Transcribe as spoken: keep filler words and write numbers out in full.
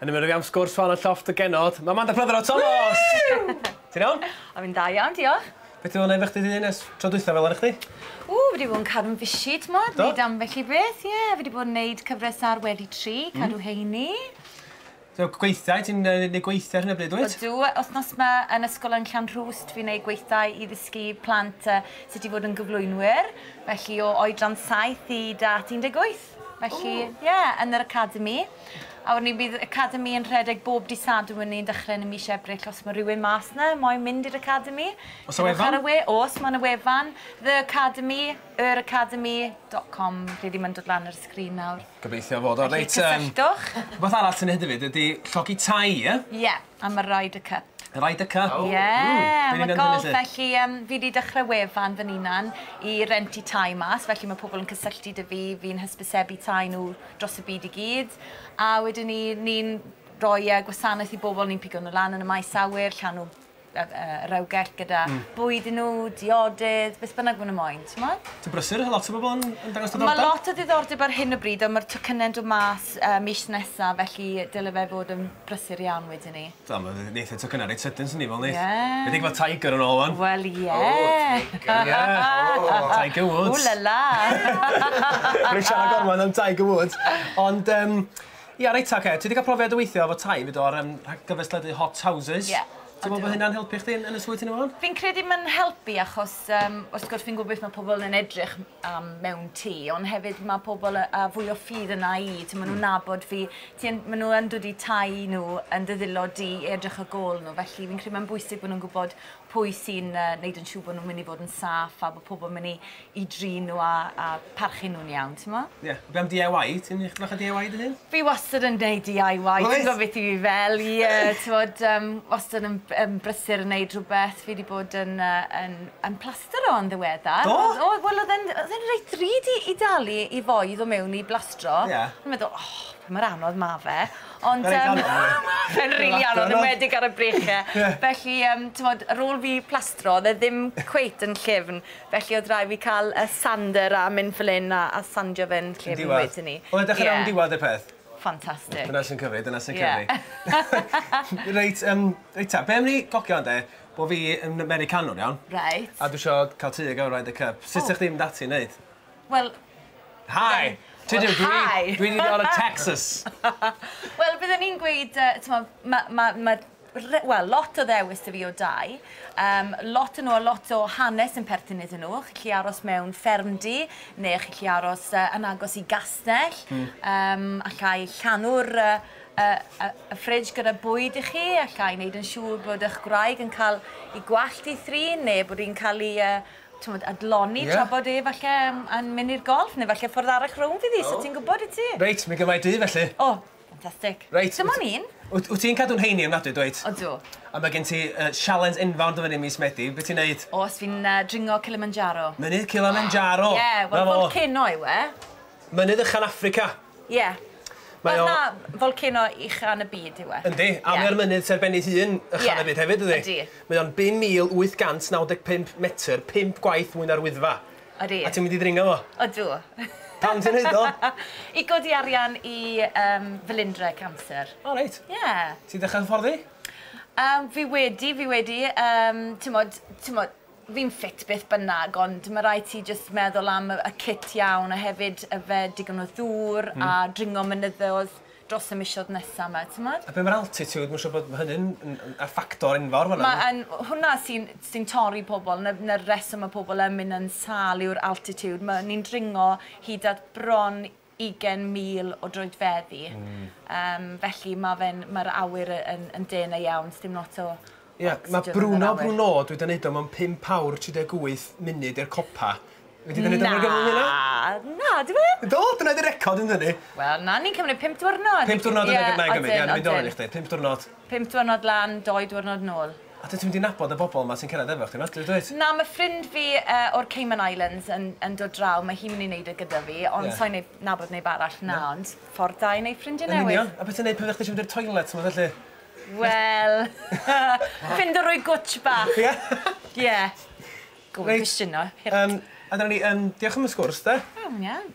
Yn ymuno fi am sgwrs fan y llofft y genod, mae Amanda Prothero Thomas! Ti'n iawn? O, fi'n da iawn, diolch. Beth ti'n fod yn efo chdi di ers tro dwytha fel yna chdi? Ww, fi wedi bod yn cadw'n fishi, t'mod? Do? Neud ambell i beth, ie. Yeah. Fi wedi bod yn neud cyfres ar Wedi Tri, cadw mm. heini. So, gweithiau, ti'n neud gweithiau ar hyn o bryd, wyt? Ydw, wythnos yma yn ysgol yn Llanrwst, fi'n neud gweithdai i ddysgu plant uh, sut i fod yn gyflwynwyr. Felly o oedran saith i dat un deg wyth. Felly, ie, yeah, yn yr academi. A wedyn ni bydd academi yn rhedeg bob dydd Sadwrn ni'n dechrau yn y mis Ebrill os mae rhywun mas na moyn mynd i'r academi. Oes 'na wefan? Ar y we, oes, mae yna wefan. The Academy, yr academy dot com, lle ddim yn dod lan ar y sgrin nawr. Gobeithio fod o. Felly, Reit, yym, cysylltwch. Rhywbeth arall sy'n neud hefyd ydy llogi tai, ie? Ie, yeah, am y Ryder Cup. Y Ryder Cup. Ie, Mm, be mae ni'n golf, hynny, lly? Felly um, fi wedi dechrau wefan fy hunan i rentu tai mas, felly mae pobl yn cysylltu 'da fi, fi'n hysbysebu tai nhw dros y byd i gyd. A wedyn ni, ni'n rhoi uh, gwasanaeth i bobl, ni'n pigo nhw lan yn y maes awyr, llanw uh, uh, rewgell gyda mm. bwyd i nhw, diodydd, beth bynnag maen nhw moyn, ti'n modd? Ti'n brysur, lot o bobl yn, yn dangos Mae diddordeb? lot o ddiddordeb ar hyn o bryd, ond mae'r tocynnau'n dod mas uh, mis nesaf, felly dyle fe fod yn brysur iawn wedyn ni. Do, mae neith y tocynnau reit sydyn sy'n ni fel neith. Ie. Fe di gweld Tiger yn ôl wan. Wel, ie. Ie. Tiger Woods. Ww la la. Rwy'n siarad gormod am Tiger Woods. Ond, um, ia, reit, oce. Ti wedi cael profiad o weithio efo tai fyd o'r um, gyfres teledu Hot Houses. Ie. Ti'n meddwl bod hynna'n helpu chdi yn, yn y swydd ti'n ymlaen? Fi'n credu mae'n helpu achos, um, wrth gwrs fi'n gwybod beth mae pobl yn edrych am mewn tŷ, ond hefyd mae pobl a, a fwy o ffydd yna i, ti'n maen nhw'n nabod fi, ti'n, maen nhw yn dod i tai nhw yn dy ddwylo di i edrych ar gôl nhw, felly fi'n credu mae'n bwysig bod nhw'n gwybod pwy sy'n uh, neud yn siŵr bod nhw'n mynd i fod yn saff a bod pobl yn mynd i, i drin nhw a, a parchu nhw'n iawn, ti'n mo? Ie. Yeah. Be am D I Y? Ti'n eich bach o D I Y dy hun? Fi wastad yn neud D I Y, ti'n Wyt? gwybod beth i fi fel, ie, ti'n bod, um, wastad yn, yn brysur yn neud rhywbeth. Fi wedi bod yn, uh, yn, yn plastero yn ddiweddar. Do? O, wel, oedd e'n oedd e'n reit ddrud i, i dalu i foi i ddod mewn i blastro. Ie. O'n meddwl, oh, pa mor anodd ma fe. Ond, Reit um, anodd, fe'n rili anodd, anodd. Enwedig ar y breichiau. Ie. Felly, um, ti'n bod, ar ôl fi plastro, oedd e ddim cweit yn llyfn. Felly oedd rhaid fi cael y sander a mynd fel hyn a, a sandio fe'n llyfn Diwedd. wedyn ni. Oedd e dechrau Ie. am diwedd y peth? Ffantastig. Dyna sy'n cyfri, dyna sy'n Ie. cyfri. Reit, um, reit ta, be am ni gogio ynde, bo fi yn Americanwr, iawn? Right. A dwi eisiau cael tŷ gael Ryder Cup. Sut O. ydych chi'n mynd ati i wneud? Wel, Hi! Ti'n Well, dwi, hi. dwi wedi dod o Texas. Wel, byddwn ni'n gweud, uh, t'mo', ma, ma, ma, re- wel, lot o ddewis 'da fi o dai. Um, lot o nhw a lot o hanes yn perthyn iddyn nhw. Chi'n gallu aros mewn ffermdy, neu chi'n gallu aros uh, yn agos i gastell. Mm. Um, allai llanw'r uh, y, y, y fridge gyda bwyd i chi, allai wneud yn siŵr bod eich gwraig yn cael ei gwallt i thrin, neu bod hi'n cael ei uh, t'mod, adloni Ie. yeah. tra bod e falle yn, yn mynd i'r golf, neu falle ffordd arall rownd fydd hi, so ti'n gwybod i ti? Reit, mi gymryd di felly. O, ffantastig. Reit. Dim ond un. Wyt wyt ti'n cadw'n heini ofnadwy, dweud? Odw. A mae gen ti uh, challenge enfawr dy fyny mis Medi. Be ti'n neud? Os fi'n uh, dringo Kilimanjaro. Mynydd Kilimanjaro. Ie, yeah, wel, Na fo. volcano yw e. Mynydd uchan Affrica. Ie. Yeah. Mae Wel, o- na, volcano ucha yn y byd yw e. Yndi, a Ie. mae o'r mynydd sy'n ben ei hun uchan Ie. y byd hefyd, ydy? Ydi. Mae o'n pum mil wyth cant naw deg pump metr, pump gwaith mwy na'r Wyddfa. Ydi. A ti'n mynd i ddringo fo? Odw. Pam ti'n neud o? I godi arian i um, Felindre cancer. O, reit. Ie. Yeah. Ti'n dechrau hyfforddi? Um, fi wedi, fi wedi, um, ti'n mod, fi'n ffit beth bynnag, ond mae rhaid ti jyst meddwl am y, y kit iawn a hefyd yfed digon o ddŵr mm. a dringo mynyddoedd dros y misoedd nesaf yma, ti'n modd? A be mae'r altitude, mae'n siŵr bod hynny'n yn- yn- y ffactor enfawr fan'na. Ma, yn, hwnna sy'n sy torri pobl, na, na'r reswm mae pobl yn mynd yn sâl yw'r altitude. Mae ni'n dringo hyd at bron ugain mil o droedfeddi. Mm. Um, felly mae'r mae awyr yn, yn denau iawn, dim lot o Ie, mae oxygen yn yr Bruno awyr. Bruno, dwi wedi gwneud o mewn pump awr tri deg wyth munud i'r copa. Wedi gwneud o mewn gyflym hynna? Na, na, di fe? Do, dyna di'r record yn hynny. Wel, na, ni'n cymryd pump diwrnod. Pump diwrnod yn Ie, y gymryd, ie, odyn, ni'n mynd o'n odyn. i chdi, pump diwrnod. Pump diwrnod lan, doi diwrnod nôl. A dwi ti'n mynd i nabod y bobl yma sy'n cyrraedd efo chdi, dwi dweud? Na, mae ffrind fi uh, o'r Cayman Islands yn, yn dod draw, mae hi'n mynd i wneud e gyda fi, ond Ie. yeah. So'n neud nabod neb arall na, ond ffordd da i wneud ffrindiau Yn newydd. union. A beth ti'n neud pan ddech chi eisiau mynd i'r toilet, ti'n felly? Wel, ffindo rwy gwtsh bach. Ie. Ie. Gofyn Reit. cwestiwn o. Um, a dyna ni, um, diolch am y sgwrs, de. Iawn, iawn.